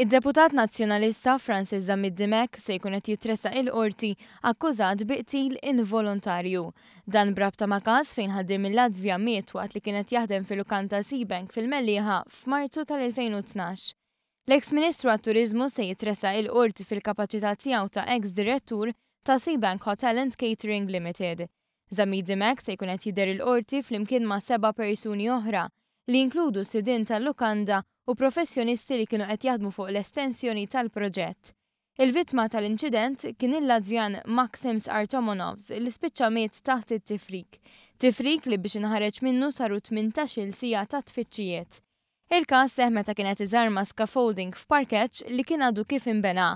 Id-deputat Nazzjonalista Francis Zammit Dimech se jkun qed jitressaq il-Qorti akkużat bi qtil involontarju. Dan b'rabta ma' każ fejn ħaddiem mill-Latvja miet waqt li kien qed jaħdem fil-lukanda Seabank fil-Mellieħa f'Marzu tal-2012. L-eks Ministru għat-Turiżmu se jitressaq il-Qorti fil-kapaċità tiegħu ta' eks direttur ta' Seabank Hotel and Catering Limited. Zammit Dimech se jkun qed jidher il-Qorti flimkien ma' seba' persuni oħra, li jinkludu sidien tal-lukanda u professjonisti li kienu qed jaħdmu fuq l-estensjoni tal-proġett. Il-vittma tal-inċident kien il-Latvjan Maksims Artomonovs li spiċċa miet taħt it-tifrik. Tifrik li biex inħareġ minnu saru 18-il siegħa ta' tfittxijiet. Il-każ seħħ meta kien qed iżarma scaffolding f'parkeġġ li kien għadu kif inbena.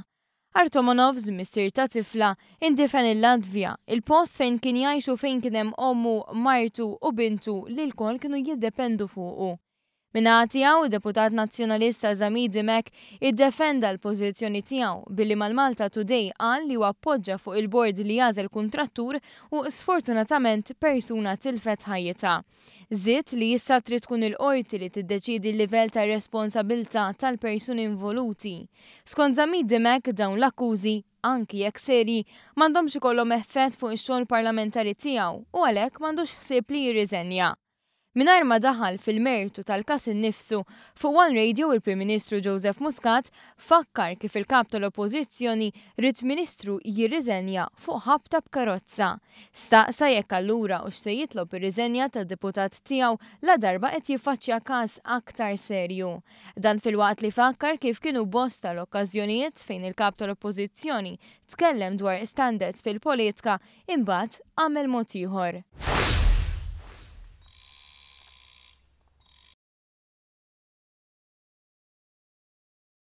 Artomonovs, missier ta' tifla, indifen il-Latvja, il-post fejn kien jgħix u fejn kien hemm ommu, martu u bintu li lkoll kienu jiddependu fuqu. Min-naħa tiegħu, id-deputat Nazzjonalista Zamir Dimech iddefenda l-pożizzjoni tiegħu billi mal-Malta Today qal li huwa appoġġa fuq il-bord li jagħżel kuntrattur u sfortunatament persuna tilfet ħajjitha. Żied li issa trid tkun il-Qorti li tiddeċiedi l-livell ta' responsabilità tal-persuni involuti. Skont Zammit Dimech, dawn l-akkużi, anki jekk serji, m'għandhomx ikollhom effett fuq ix-xogħol parlamentari tiegħu u għalhekk m'għandux ħsieb li jirriżenja. Mingħajr ma daħal fil-mertu tal-każ innifsu, fuq One Radio il-Prim Ministru Joseph Muscat fakkar kif il-Kap tal-Oppożizzjoni ried Ministru jirriżenja fuq ħabta b'karozza. Staqsa jekk allura hux se jitlob ir-riżenja tad-deputat tiegħu ladarba qed jiffaċċja każ aktar serju. Dan filwaqt li fakkar kif kienu bosta l-okkażjonijiet fejn il-Kap tal-Oppożizzjoni tkellem dwar standards fil-politka imbagħad għamel mod ieħor.